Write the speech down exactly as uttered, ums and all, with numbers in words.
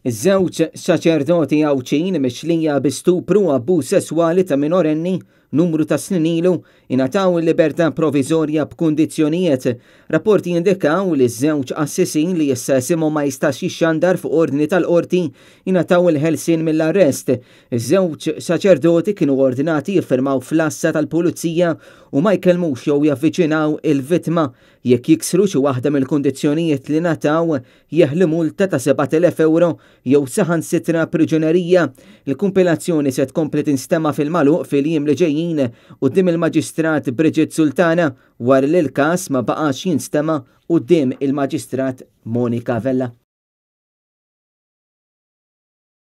Iż-żewġ saċerdoti Għawdxin mixlija bi stupru u abbuż sesswali ta' minorenni numru ta' snin ilu ingħataw il-libertà proviżorja b'kundizzjonijiet. Rapporti jindikaw li ż-żewġ qassisin, li issa isimhom ma jistax jixxandar fuq ordni tal-qorti, ingħataw il-ħelsien mill-arrest. Iż-żewġ saċerdoti kienu ordnati jiffirmaw fl-għassa tal-pulizija u ma jkellmux jew javviċinaw il-vittma. Jekk jiksru xi waħda mill-kundizzjonijiet li ngħataw, jeħlu multa ta' sebat elef euro jew saħansitra priġunerija. Il-kumpilazzjoni se tkompli tinstema' fil-magħluq fil-jiem li ġejjin quddiem il-Maġistrat Bridget Sultana, wara li l-każ ma baqax jinstema' quddiem il-Maġistrat Monica Vella.